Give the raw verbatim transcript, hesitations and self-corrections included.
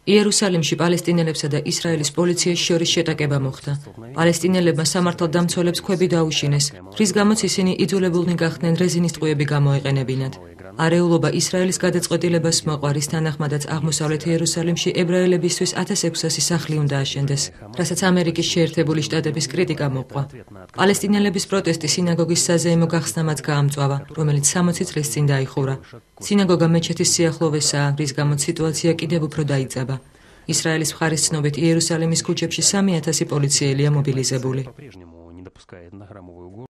იერუსალიმში პალესტინელებსა და ისრაელის პოლიციის შორის შეტაკება მოხდა. პალესტინელებმა სამართალდამცველებს ქვები დაუშინეს, რის გამოც ისინი იძულებულნი გახდნენ რეზინის ტყუები გამოეყენებინათ. არეულობა ისრაელის გადაწყვეტილებას მოყვა, რის თანახმადაც აღმოსავლეთ იერუსალიმში ებრაელებისთვის ათას ექვსასი სახლი უნდა აშენდეს, რასაც ამერიკის შეერთებული შტატების კრიტიკა მოყვა. პალესტინელების პროტესტი სინაგოგის საზეიმო გახსნამაც გაამწვავა, რომელიც სამოცი წლის წინ დაიხურა. სინაგოგა მეჩეთის სიახლოვესაა, რის გამოც სიტუაცია კიდევ უფრო დაიძაბა. ისრაელის მხარის ცნობით იერუსალიმის ქუჩებში სამი ათასი პოლიციელია მობილიზებული.